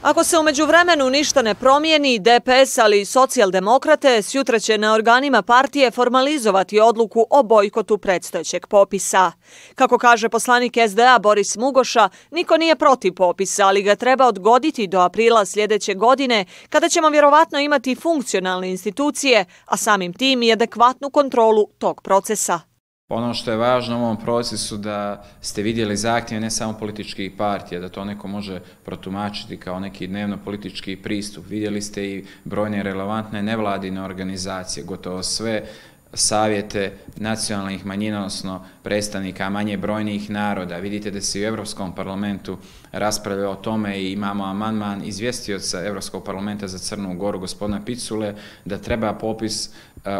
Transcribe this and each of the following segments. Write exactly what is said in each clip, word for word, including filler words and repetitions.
Ako se u međuvremenu ništa ne promijeni, D P S, ali i socijaldemokrate sjutra će na organima partije formalizovati odluku o bojkotu predstojećeg popisa. Kako kaže poslanik S D A Boris Mugoša, niko nije protiv popisa, ali ga treba odgoditi do aprila sljedeće godine, kada ćemo vjerovatno imati funkcionalne institucije, a samim tim i adekvatnu kontrolu tog procesa. Ono što je važno u ovom procesu da ste vidjeli zahtjeve ne samo političkih partija, da to neko može protumačiti kao neki dnevno-politički pristup. Vidjeli ste i brojne relevantne nevladine organizacije, gotovo sve savjete nacionalnih manjina, odnosno predstavnika manje brojnih naroda. Vidite da se i u Europskom parlamentu raspravlja o tome i imamo amandman izvjestioca Europskog parlamenta za Crnu Goru, gospodina Picule, da treba popis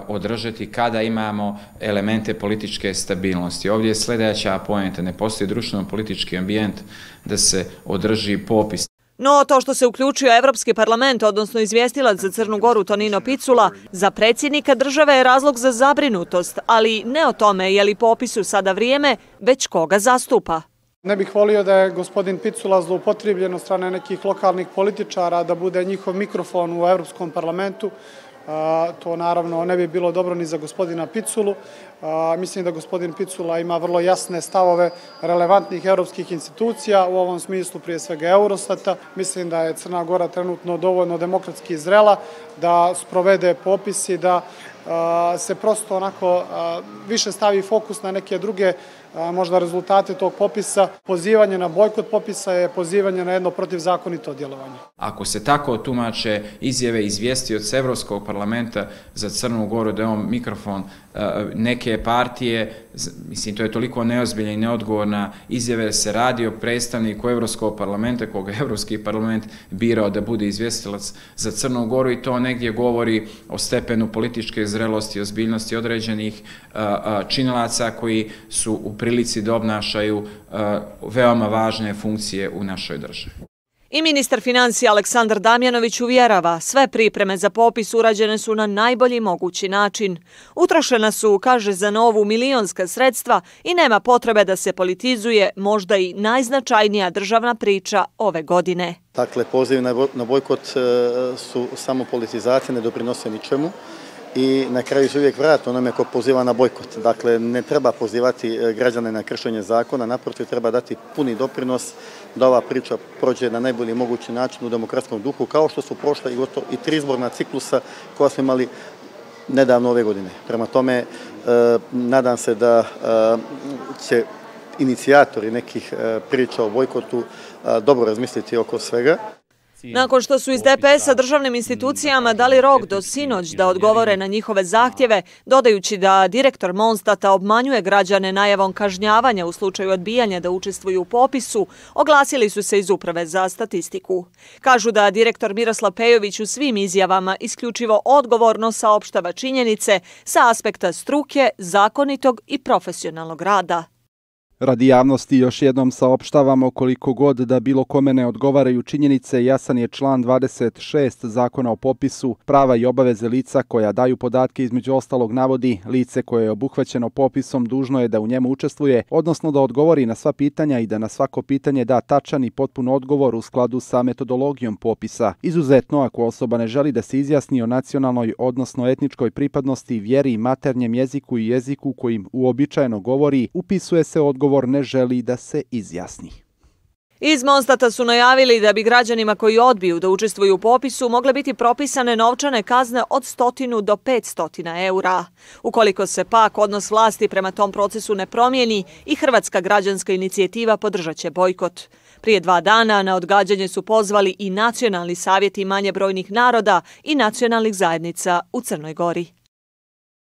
održati kada imamo elemente političke stabilnosti. Ovdje je sljedeća poenta, ne postoji društveno-politički ambijent da se održi popis. No, to što se uključio Evropski parlament, odnosno izvjestilac za Crnu Goru Tonino Picula, za predsjednika države je razlog za zabrinutost, ali ne o tome je li popisu sada vrijeme, već koga zastupa. Ne bih volio da je gospodin Picula zloupotrebljen od strane nekih lokalnih političara, da bude njihov mikrofon u Evropskom parlamentu. To naravno ne bi bilo dobro ni za gospodina Piculu. Mislim da gospodin Picula ima vrlo jasne stavove relevantnih europskih institucija, u ovom smislu prije svega Eurostata. Mislim da je Crna Gora trenutno dovoljno demokratski zrela da sprovede popis i da se prosto onako više stavi fokus na neke druge možda rezultate tog popisa. Pozivanje na bojkot popisa je pozivanje na jedno protivzakonito djelovanje. Ako se tako tumače izjave izvjestioca Evropskog parlamenta za Crnu Goru da je on mikrofon neke partije, mislim to je toliko neozbiljna i neodgovorna izjave, se radi o predstavniku Evropskog parlamenta koga je Evropski parlament birao da bude izvjestilac za Crnu Goru i to negdje govori o stepenu političke zrelosti i ozbiljnosti određenih činilaca koji su u prilici da obnašaju veoma važne funkcije u našoj državi. I ministar financija Aleksandar Damjanović uvjerava, sve pripreme za popis urađene su na najbolji mogući način. Utrošena su, kaže, za novu milionska sredstva i nema potrebe da se politizuje možda i najznačajnija državna priča ove godine. Dakle, pozivi na bojkot su samo politizacije, ne doprinose ničemu. I na kraju se uvijek vrati onome ko poziva na bojkot. Dakle, ne treba pozivati građane na kršenje zakona, naprotiv treba dati puni doprinos da ova priča prođe na najbolji mogući način u demokratskom duhu, kao što su prošla i gotovo i tri izborna ciklusa koja smo imali nedavno ove godine. Prema tome, nadam se da će inicijatori nekih priča o bojkotu dobro razmisliti oko svega. Nakon što su iz D P S-a državnim institucijama dali rok do sinoć da odgovore na njihove zahtjeve, dodajući da direktor Monstata obmanjuje građane najavom kažnjavanja u slučaju odbijanja da učestvuju u popisu, oglasili su se iz Uprave za statistiku. Kažu da direktor Miroslav Pejović u svim izjavama isključivo odgovorno saopštava činjenice sa aspekta struke, zakonitog i profesionalnog rada. Radi javnosti još jednom saopštavamo koliko god da bilo kome ne odgovaraju činjenice, jasan je član dvadeset šest Zakona o popisu, prava i obaveze lica koja daju podatke, između ostalog navodi lice koje je obuhvaćeno popisom dužno je da u njemu učestvuje, odnosno da odgovori na sva pitanja i da na svako pitanje da tačan i potpun odgovor u skladu sa metodologijom popisa. Izuzetno ako osoba ne želi da se izjasni o nacionalnoj, odnosno etničkoj pripadnosti, vjeri, maternjem jeziku i jeziku kojim uobičajeno govori, upisuje se odgovor ne želi da se izjasni. Iz Monstata su najavili da bi građanima koji odbiju da učestvuju u popisu mogle biti propisane novčane kazne od stotinu do petsto eura. Ukoliko se pak odnos vlasti prema tom procesu ne promijeni, i Hrvatska građanska inicijativa podržat će bojkot. Prije dva dana na odgađanje su pozvali i nacionalni savjeti manje brojnih naroda i nacionalnih zajednica u Crnoj Gori.